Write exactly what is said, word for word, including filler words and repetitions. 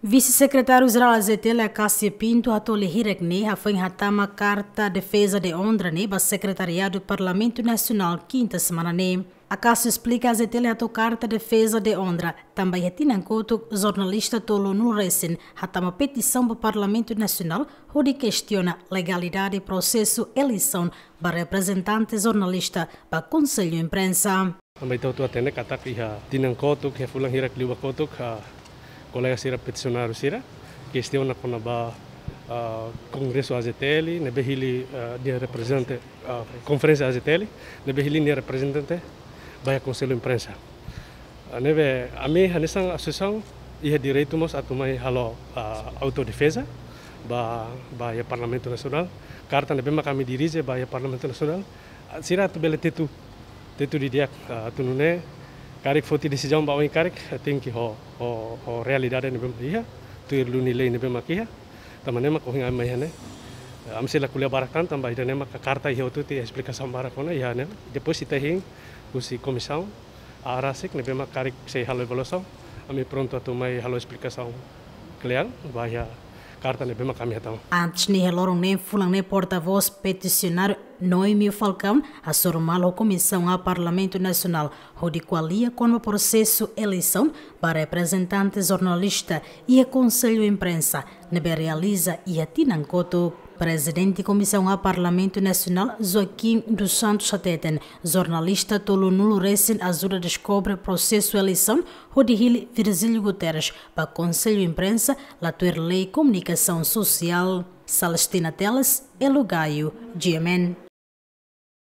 Vise-Sekretáriu-Jerál A Z T L, Acácio Pinto, hato'o lia hirak ne'e hafoin hatama karta defeza de onra ne'e ba Sekretariadu Parlamentu Nasionál kinta semana ne'e. Acácio esplika A Z T L hato'o karta defeza de onra tanba iha tinan kotuk jornalista tolunulu resin hatama petisaun ba Parlamentu Nasionál hodi kestiona legalidade prosesu eleisaun ba reprezentante jornalista ba Konsellu Imprensa. Tanba ita hotu hatene katak iha tinan kotuk, iha fulan hirak liubá kotuk, ah, kolega sira, petisiáriu sira kestiona kona-ba, ah, Kongresu A Z T L ne'ebé hili, ah, nia reprezentante, ah, Konferénsia A Z T L ne'ebé hili nia reprezentante ba iha Konsellu Imprensa. Ah, ne'ebé ami hanesan asosiasaun iha direitu mós atu mai halo, ah, autodefeza ba, ba iha Parlamentu Nasionál. Karta ne'ebé mak ami dirije ba iha Parlamentu Nasionál, ah, sira atu bele tetu, tetu didi'ak, ah, atu nune'e karik foti desizaun ba oin karik, ah, tenke ho, ho, ho realidade ne'ebé mak iha, tuir duni lei ne'ebé mak iha. Tanba ne'e mak ohin ami mai iha ne'e. Ah, ami sei la ko'alia barak tan, tanba ida-ne'e mak karta iha hotu tiha esplikasaun barak ona iha ne'e. Depois ita hein husi komisaun A rasik ne'ebé mak karik sei halo avaliasaun, ami prontu atu mai halo esplikasaun kle'an ba iha karta ne'ebé mak ami hatama. Antes ne'e, iha loron ne'e fulan ne'e, portavós petisiáriu Noemio Falcão hasoru malu ho Komisaun A Parlamentu Nasionál hodi ko'alia kona-ba prosesu eleisaun ba reprezentante jornalista iha Konsellu Imprensa ne'ebé realiza iha tinan kotuk. Prezidente Komisaun A Parlamentu Nasionál, Joaquim dos Santos, hateten jornalista tolunulu resin ajuda deskobre prosesu eleisaun hodi hili Virgílio Guterres ba Konsellu Imprensa la tuir lei komunikasaun sosiál. Celestina Teles, Elo Gaio, G M N.